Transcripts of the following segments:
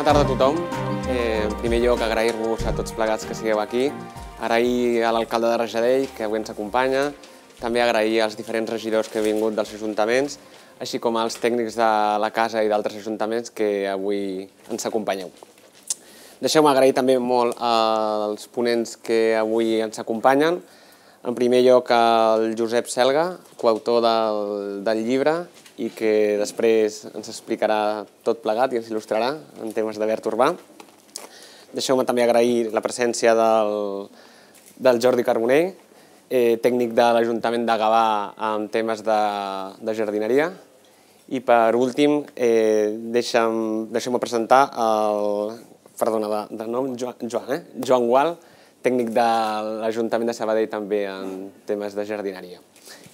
tarda a tothom. En primer lloc, agrair-vos a tots plegats que sigueu aquí, agrair a l'alcalde de Rajadell, que avui ens acompanya, també agrair als diferents regidors que han vingut dels ajuntaments, així com als tècnics de la casa i d'altres ajuntaments que avui ens acompanyeu. Deixeu-me agrair també molt als ponents que avui ens acompanyen. En primer lloc, al Josep Selga, coautor del llibre, i que després ens explicarà tot plegat i ens il·lustrarà en temes de verd urbà. Deixeu-me també agrair la presència del Jordi Carbonell, tècnic de l'Ajuntament de Gavà en temes de jardineria. I per últim, deixeu-me presentar el, perdona, de nom, Joan Gual, tècnic de l'Ajuntament de Sabadell també en temes de jardineria.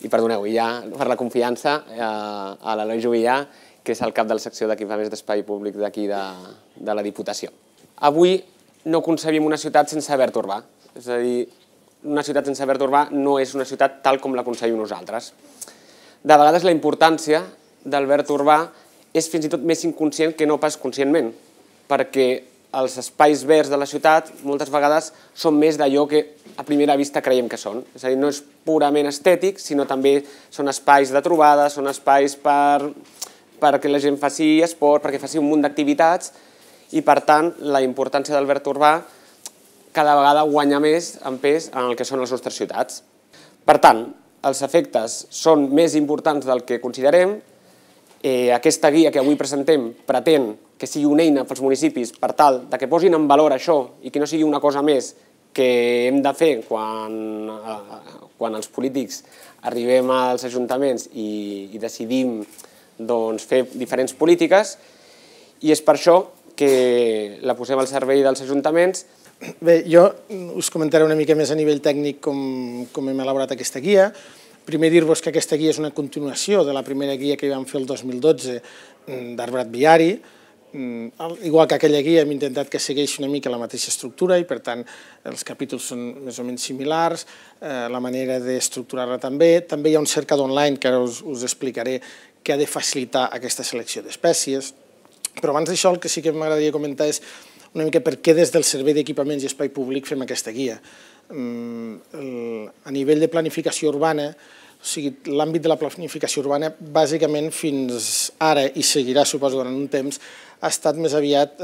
I perdoneu, i ja per la confiança a l'Eloi Juvillà, que és el cap de la secció d'equipaments d'espai públic d'aquí de la Diputació. Avui no concebim una ciutat sense verd urbà, és a dir, una ciutat sense verd urbà no és una ciutat tal com la concebim nosaltres. De vegades la importància del verd urbà és fins i tot més inconscient que no pas conscientment, perquè els espais verds de la ciutat moltes vegades són més d'allò que a primera vista creiem que són. És a dir, no és purament estètic, sinó també són espais de trobada, són espais perquè la gent faci esport, perquè faci un munt d'activitats, i per tant la importància del verd urbà cada vegada guanya més en pes en el que són les nostres ciutats. Per tant, els efectes són més importants del que considerem. Aquesta guia que avui presentem pretén que sigui una eina pels municipis per tal que posin en valor això i que no sigui una cosa més que hem de fer quan els polítics arribem als ajuntaments i decidim fer diferents polítiques, i és per això que la posem al servei dels ajuntaments. Bé, jo us comentaré una mica més a nivell tècnic com hem elaborat aquesta guia. Primer dir-vos que aquesta guia és una continuació de la primera guia que vam fer el 2012 d'arbrat viari. Igual que aquella guia hem intentat que segueixi una mica la mateixa estructura i per tant els capítols són més o menys similars, la manera d'estructurar-la també. També hi ha un cercador online que ara us explicaré que ha de facilitar aquesta selecció d'espècies. Però abans d'això el que sí que m'agradaria comentar és una mica per què des del Servei d'Equipaments i Espai Públic fem aquesta guia. A nivell de planificació urbana, o sigui, l'àmbit de la planificació urbana bàsicament fins ara i seguirà, suposo, durant un temps, ha estat més aviat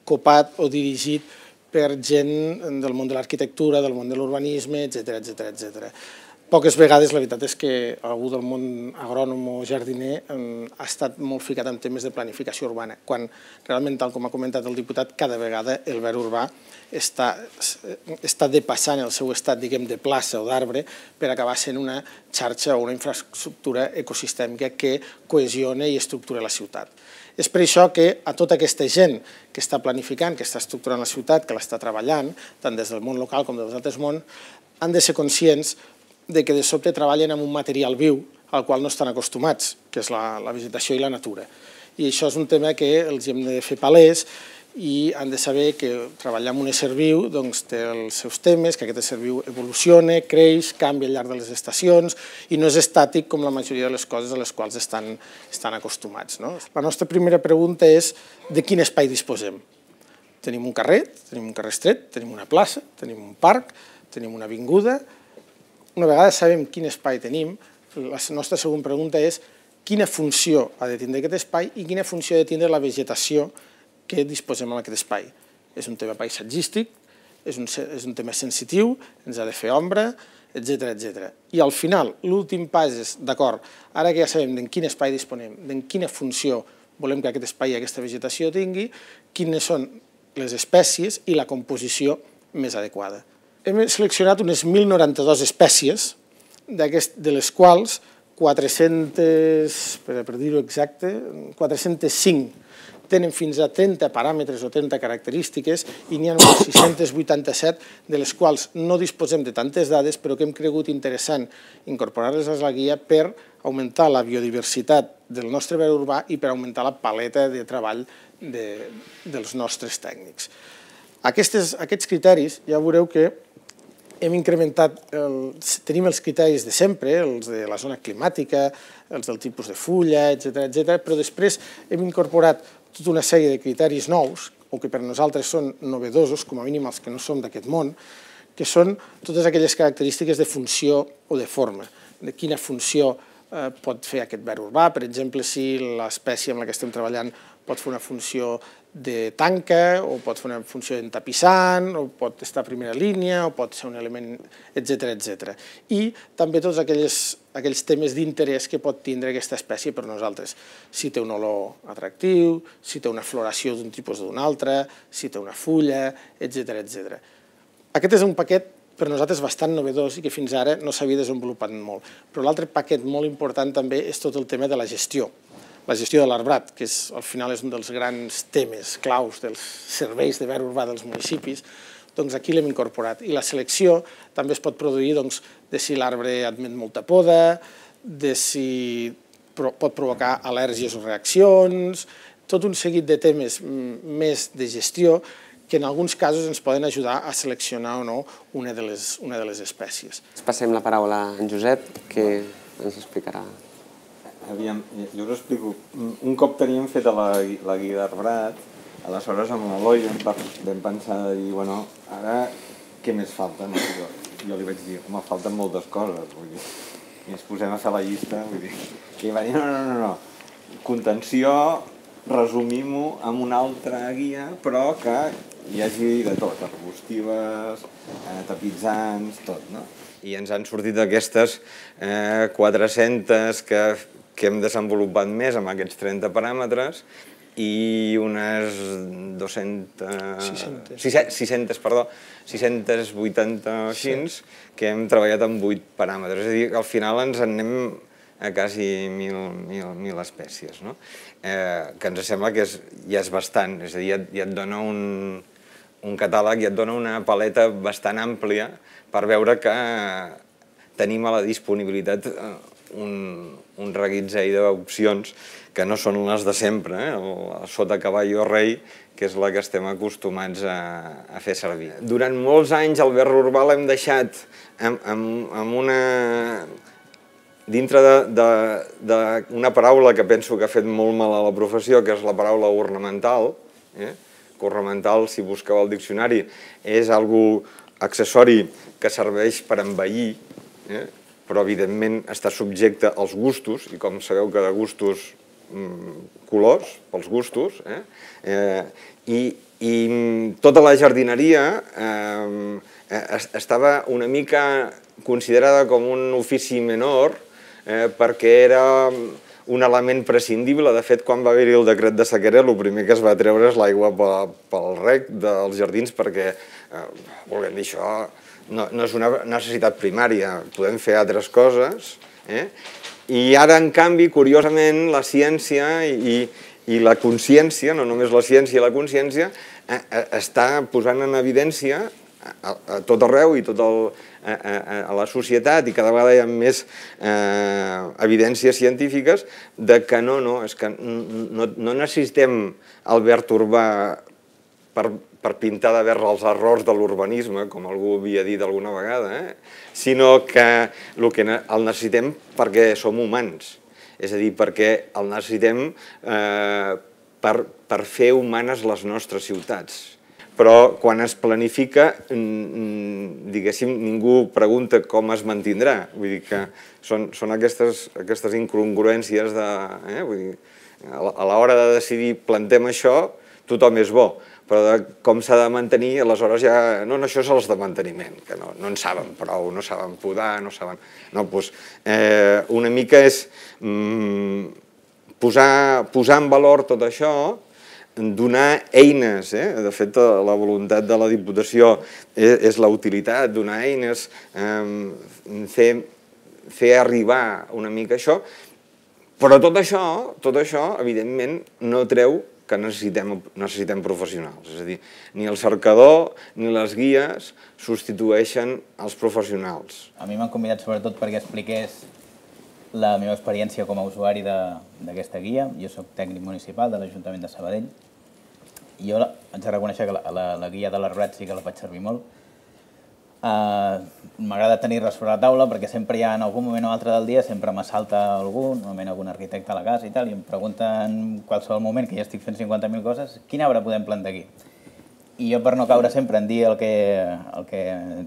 copat o dirigit per gent del món de l'arquitectura, del món de l'urbanisme, etc. Poques vegades la veritat és que algú del món agrònom o jardiner ha estat molt ficat en temes de planificació urbana, quan realment, tal com ha comentat el diputat, cada vegada el verd urbà està depassant el seu estat, diguem, de plaça o d'arbre per acabar sent una xarxa o una infraestructura ecosistèmica que cohesiona i estructura la ciutat. És per això que a tota aquesta gent que està planificant, que està estructurant la ciutat, que l'està treballant, tant des del món local com dels altres mons, han de ser conscients que de sobte treballen amb un material viu al qual no estan acostumats, que és la vegetació i la natura. I això és un tema que els hem de fer palès i han de saber que treballar amb un ésser viu té els seus temes, que aquest ésser viu evoluciona, creix, canvia al llarg de les estacions i no és estàtic com la majoria de les coses a les quals estan acostumats. La nostra primera pregunta és de quin espai disposem. Tenim un carrer estret, tenim una plaça, tenim un parc, tenim una avinguda. Una vegada sabem quin espai tenim, la nostra segona pregunta és quina funció ha de tindre aquest espai i quina funció ha de tindre la vegetació que disposem en aquest espai. És un tema paisatgístic, és un tema sensitiu, ens ha de fer ombra, etc. I al final, l'últim pas és, d'acord, ara que ja sabem en quin espai disponem, en quina funció volem que aquest espai i aquesta vegetació tingui, quines són les espècies i la composició més adequada. Hem seleccionat unes 1.092 espècies, de les quals 400, per dir-ho exacte, 405 tenen fins a 30 paràmetres o 30 característiques i n'hi ha unes 687 de les quals no disposem de tantes dades però que hem cregut interessant incorporar-les a la guia per augmentar la biodiversitat del nostre verd urbà i per augmentar la paleta de treball dels nostres tècnics. Aquests criteris ja veureu que hem incrementat, tenim els criteris de sempre, els de la zona climàtica, els del tipus de fulla, etc., però després hem incorporat tota una sèrie de criteris nous, o que per nosaltres són novedosos, com a mínim els que no som d'aquest món, que són totes aquelles característiques de funció o de forma, de quina funció pot fer aquest ver urbà. Per exemple, si l'espècie amb la que estem treballant pot fer una funció de tanca, o pot fer una funció d'entapissant, o pot estar a primera línia, o pot ser un element, etc. I també tots aquells temes d'interès que pot tindre aquesta espècie per nosaltres. Si té un olor atractiu, si té una floració d'un tipus o d'un altre, si té una fulla, etc. Aquest és un paquet per nosaltres bastant novedós i que fins ara no s'havia desenvolupat molt. Però l'altre paquet molt important també és tot el tema de la gestió de l'arbrat, que al final és un dels grans temes claus dels serveis de ver urbà dels municipis, doncs aquí l'hem incorporat. I la selecció també es pot produir de si l'arbre admet molta poda, de si pot provocar al·lèrgies o reaccions, tot un seguit de temes més de gestió que en alguns casos ens poden ajudar a seleccionar o no una de les espècies. Passem la paraula a en Josep, que ens explicarà. Aviam, jo us explico. Un cop teníem feta la guia d'arbrat, aleshores amb l'Eloi vam pensar de dir, bueno, ara què més falta? Jo li vaig dir, home, falten moltes coses, i ens posem a fer la llista, i va dir, no, contenció, resumim-ho amb una altra guia, però que hi hagi de tot, arbustives, tapitzants, tot, no? I ens han sortit aquestes 400 que hem desenvolupat més amb aquests 30 paràmetres i unes 680 així, que hem treballat amb 8 paràmetres. És a dir, que al final ens en anem a quasi 1.000 espècies, que ens sembla que ja és bastant, és a dir, ja et dona un catàleg, ja et dona una paleta bastant àmplia per veure que tenim a la disponibilitat un reguitzell d'opcions que no són les de sempre, sota cavall o rei, que és la que estem acostumats a fer servir. Durant molts anys el ver urbà l'hem deixat dintre d'una paraula que penso que ha fet molt mal a la professió, que és la paraula ornamental. Ornamental, si busqueu al diccionari, és algo accessori que serveix per embellir, però evidentment està subjecte als gustos, i com sabeu que de gustos, colors, pels gustos, i tota la jardineria estava una mica considerada com un ofici menor perquè era un element prescindible. De fet, quan va haver-hi el decret de sequera, el primer que es va treure és l'aigua pel rec dels jardins perquè, volem dir, això no és una necessitat primària, podem fer altres coses. I ara, en canvi, curiosament, la ciència i la consciència, no només la ciència i la consciència, està posant en evidència a tot arreu i a la societat, i cada vegada hi ha més evidències científiques de que no necessitem el verd urbà per pintar de verd els errors de l'urbanisme, com algú havia dit alguna vegada, sinó que el necessitem perquè som humans, és a dir, perquè el necessitem per fer humanes les nostres ciutats. Però quan es planifica, diguéssim, ningú pregunta com es mantindrà. Vull dir que són aquestes incongruències de... A l'hora de decidir plantem això, tothom és bo, però com s'ha de mantenir, aleshores ja... No, això és els de manteniment, que no en saben prou, no saben podar, no saben... No, doncs una mica és posar en valor tot això, donar eines, de fet la voluntat de la Diputació és la utilitat, donar eines, fer arribar una mica això, però tot això, evidentment, no treu que necessitem professionals. És a dir, ni el cercador ni les guies substitueixen els professionals. A mi m'han convidat sobretot perquè expliqués la meva experiència com a usuari d'aquesta guia. Jo soc tècnic municipal de l'Ajuntament de Sabadell i jo haig de reconèixer que la guia de l'arbrat sí que la faig servir molt, M'agrada tenir-les sobre la taula perquè sempre hi ha, en algun moment o altre del dia, sempre m'assalta algú, normalment algun arquitecte a la casa i tal, i em pregunta en qualsevol moment, que ja estic fent 50.000 coses, quin arbre podem plantar aquí? I jo, per no caure sempre en dir el que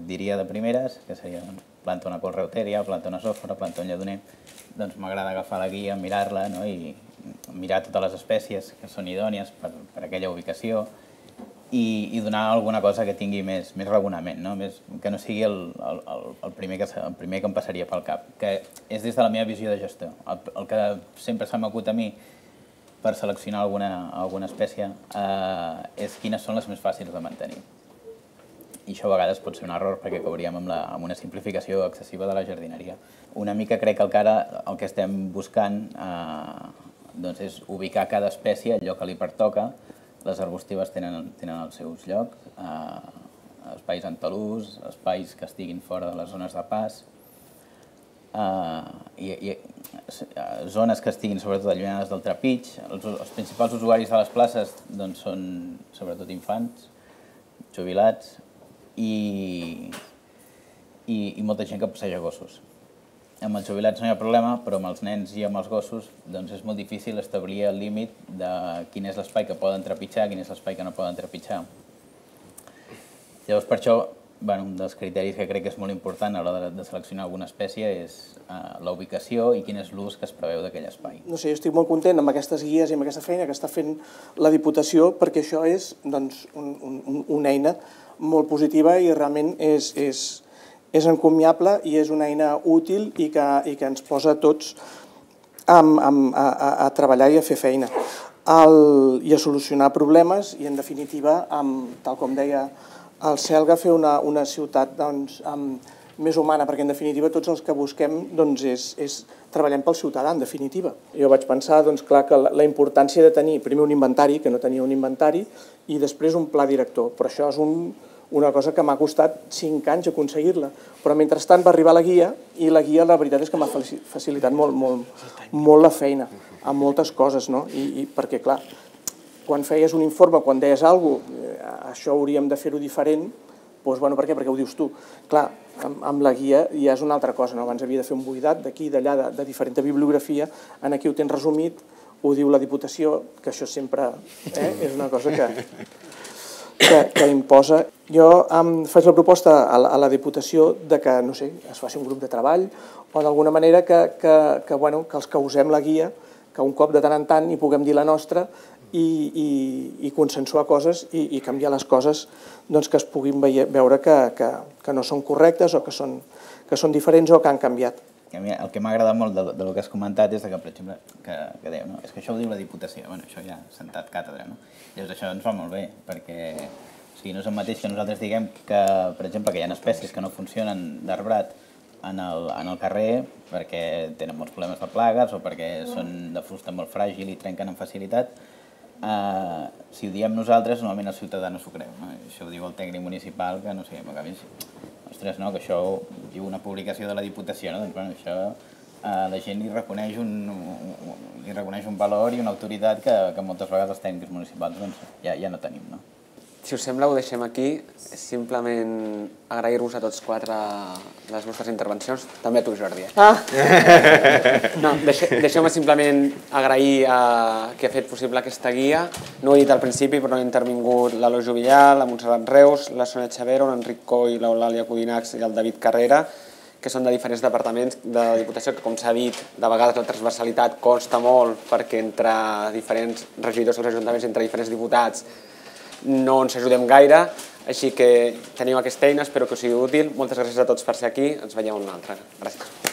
diria de primeres, que seria planta una col reutèria, planta una sòfora, planta un lledoner, doncs m'agrada agafar la guia, mirar-la, no? I mirar totes les espècies que són idònies per aquella ubicació, i donar alguna cosa que tingui més raonament, no? Que no sigui el primer que em passaria pel cap, que és des de la meva visió de gestor. El que sempre se m'acut a mi per seleccionar alguna espècie és quines són les més fàcils de mantenir. I això a vegades pot ser un error perquè cauríem amb una simplificació excessiva de la jardineria. Una mica crec que ara el que estem buscant és ubicar cada espècie al lloc que li pertoca. Les arbustives tenen els seus llocs, espais en talús, espais que estiguin fora de les zones de pas, i zones que estiguin sobretot allunyades del trepig. Els principals usuaris de les places són sobretot infants, jubilats i molta gent que passeja gossos. Amb els jubilats no hi ha problema, però amb els nens i amb els gossos és molt difícil establir el límit de quin és l'espai que poden trepitjar, quin és l'espai que no poden trepitjar. Llavors, per això, un dels criteris que crec que és molt important a l'hora de seleccionar alguna espècie és la ubicació i quin és l'ús que es preveu d'aquell espai. No sé, jo estic molt content amb aquestes guies i amb aquesta feina que està fent la Diputació, perquè això és una eina molt positiva i realment és encomiable i és una eina útil i que ens posa a tots a treballar i a fer feina i a solucionar problemes i, en definitiva, tal com deia el Selga, fer una ciutat més humana, perquè, en definitiva, tots els que busquem treballem pel ciutadà, en definitiva. Jo vaig pensar, clar, que la importància de tenir primer un inventari, que no tenia un inventari, i després un pla director, però això és una cosa que m'ha costat 5 anys aconseguir-la, però mentrestant va arribar la guia i la guia la veritat és que m'ha facilitat molt la feina amb moltes coses, no? I perquè, clar, quan feies un informe, quan deies alguna cosa, això hauríem de fer-ho diferent, doncs, per què? Perquè ho dius tu. Clar, amb la guia ja és una altra cosa, no? Abans havia de fer un buidat d'aquí, d'allà, de diferent bibliografia, aquí ho tens resumit, ho diu la Diputació, que això sempre és una cosa que imposa. Jo faig la proposta a la Diputació que, no sé, es faci un grup de treball o d'alguna manera que els que usem la guia, que un cop de tant en tant hi puguem dir la nostra i consensuar coses i canviar les coses que es puguin veure que no són correctes o que són diferents o que han canviat. El que m'ha agradat molt del que has comentat és que, per exemple, que dèieu, és que això ho diu la Diputació, això ja ha sentat càtedra, no? Llavors això ens va molt bé, perquè no és el mateix que nosaltres diguem que, per exemple, que hi ha espècies que no funcionen d'arbrat en el carrer perquè tenen molts problemes de plagues o perquè són de fusta molt fràgil i trenquen amb facilitat. Si ho diem nosaltres, normalment el ciutadà no s'ho creu. Això ho diu el tècnic municipal, que no sé, m'acabis... Ostres, no, que això ho diu una publicació de la Diputació, no? Doncs, això la gent li reconeix un valor i una autoritat que moltes vegades els tècnics municipals ja no tenim, no? Si us sembla, ho deixem aquí. Simplement agrair-vos a tots 4 les vostres intervencions. També a tu, Jordi. No, deixeu-me simplement agrair que ha fet possible aquesta guia. No ho he dit al principi, però han intervingut l'Eloi Juvillà, la Montserrat Reus, la Sònia Xavero, l'Enric Coll, l'Eulàlia Codinacs i el David Carrera, que són de diferents departaments de la Diputació, que, com s'ha dit, de vegades la transversalitat costa molt perquè entre diferents regidors dels ajuntaments, entre diferents diputats, no ens ajudem gaire, així que teniu aquesta eina, espero que us sigui útil. Moltes gràcies a tots per ser aquí, ens veiem una altra. Gràcies.